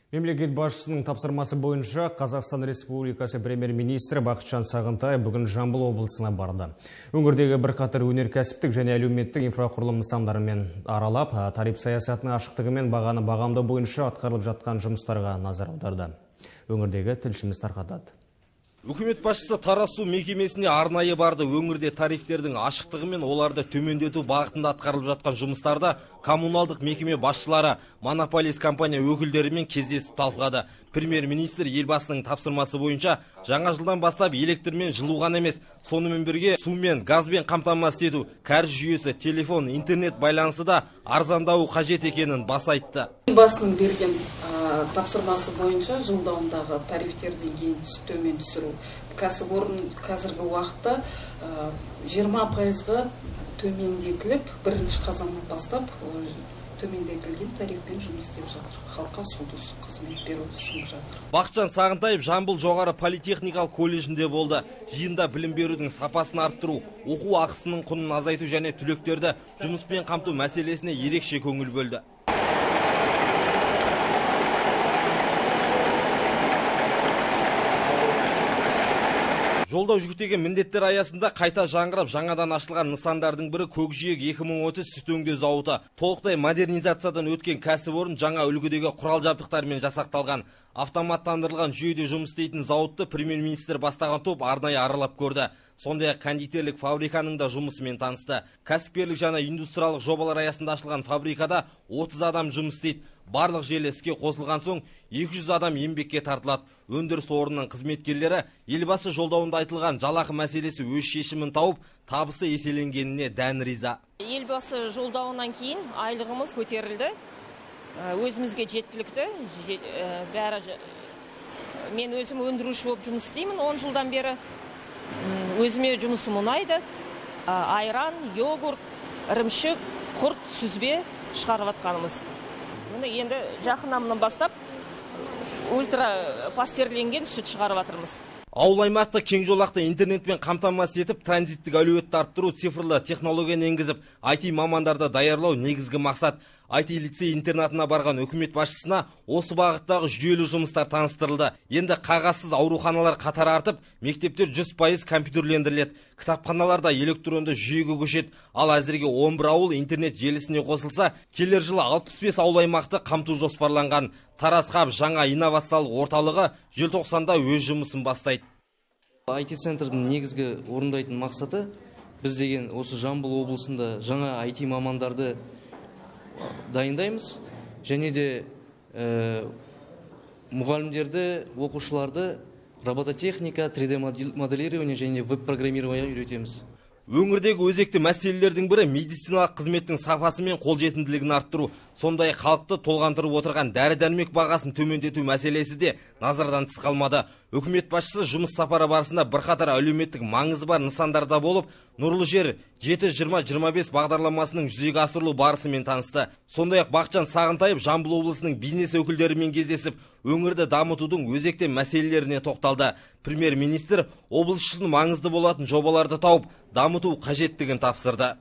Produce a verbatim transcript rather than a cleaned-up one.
Мемлекет басшысының тапсырмасы бойынша Қазақстан Республикасы премьер-министрі Бақытжан Сағынтаев бүгін Жамбыл облысына барды. Өңірдегі бірқатар өнеркәсіптік және әлеуметтік инфрақұрылым нысандарымен аралап, тариф саясатының ашықтығы мен бағаны бағамдау бойынша атқарылып жатқан жұмыстарға назар аударды. Өңірдегі тілшіміз тарқатады. Үкімет басшысы Тараз су мекемесіне арнайы барды. Өңірде тарифтердің ашықтығы мен оларды төмендету бағытында атқарылып жатқан жұмыстарда коммуналдық мекеме басшылары, монополист компания өкілдерімен кездесіп талқылады. Премьер-министр елбасының тапсырмасы бойынша жаңа жылдан бастап электрмен жылу ғана емес, сонымен бірге сумен, газбен қамтамасыз ету, кәріз жүйесі, телефон, интернет байланысы да арзандауы қажет екенін баса айтты. Елбасының берген тапсырмасы бойынша жылдауындағы тарифтерден кейін төмен түсіру. Кәсіпорын қазіргі уақытта жиырма пайызға төмендетіліп, бірінші қазаннан бастап төмендетілген тарифпен жұмыс істеп жатыр. Халыққа суды қызмет беру ұсынып жатыр. Бақытжан Сағынтаев Жамбыл жоғары политехникалық колледжінде болды. Жиында білім берудің сапасын арттыру, оқу ақысының құнын азайту және түлектерді жұмыспен қамту мәселесіне ерекше көңіл бөлді. Жолдау жүктеген міндеттер аясында қайта жаңғырып жаңадан ашылған нысандардың бірі Көкжиек екі мың отыз сүт өңдеу зауыты. Толықтай модернизациядан өткен кәсіпорын жаңа үлгідегі құрал жабдықтармен жасақталған. Автоматтандырылған жүйеде жұмыс істейтін зауытты премьер-министр бастаған топ арнайы аралап көрді. Сондай-ақ кондитерлік фабриканың да жұмысымен танысты. Кәсіпкерлік және индустриялық жобалар аясында ашылған фабрикада отыз адам жұмыс істейді. Барлық желі іске қосылған соң екі жүз адам еңбекке тартылады. Өндіріс орнының қызметкерлері елбасы жолдауында айтылған жалақы мәселесі өз шешімін тауып, табысы еселенгеніне дән риза. Елбасы жолдауынан кейін айлығымыз көтерілді. Өзімізге жеткілікті. Бәрі мен өзім өндіруші болып жұмыс істеймін он жылдан бері. Өзіме жұмысым ұнайды. Айран, йогурт, ірімшік, құрт, сүзбе шығарып жатқанымыз. Енді жақыннан бастап ультра пастерленген сүт шығарып жатырмыз. Ауыл аймақты кең жолақты интернетпен қамтамасыз етіп, транзиттік әлеуетті арттыру, цифрлы технологияны енгізіп, ай ти мамандарды даярлау негізгі мақсат. ай ти лицей интернатына барған үкімет басшысына осы бағыттағы жүйелі жұмыстар таныстырылды. Енді қағазсыз ауруханалар қатары артып, мектептер жүз пайыз компьютерлендіріледі. Кітапханаларда электронды жүйеге көшеді. Ал әзірге он бір ауыл интернет желісіне қосылса, келер жылы алпыс бес ауыл аймақты қамту жоспарланған. Тараз хаб жаңа инновациялық орталығы желтоқсанда өз жұмысын бастайды. ай ти центрдің негізгі орындайтын мақсаты біз деген осы Жамбыл облысында жаңа ай ти мамандарды дайындаймыз, және де ә, мұғалімдерді, оқушыларды робототехника, три дэ моделирование және веб-программирование үйретеміз. Өңірдегі өзекті мәселелердің бірі медициналық қызметтің сапасы мен қолжетімділігін арттыру. Сондай халықты толғандырып отырған дәрі-дәрмек бағасын төмендету мәселесі де назардан тыс қалмады. Үкімет басшысы жұмыс сапары барысында бірқатар әлеуметтік маңызы бар нысандарда болып, Нұрлы жер жеті жиырма жиырма бес бағдарламасының жүзеге асырылу барысымен танысты. Сондай-ақ Бақытжан Сағынтаев Жамбыл облысының бизнес өкілдерімен кездесіп, өңірді дамытудың өзекті мәселелеріне тоқталды. Премьер-министр облыс үшін маңызды болатын жобаларды тауып, дамыту қажеттігін тапсырды.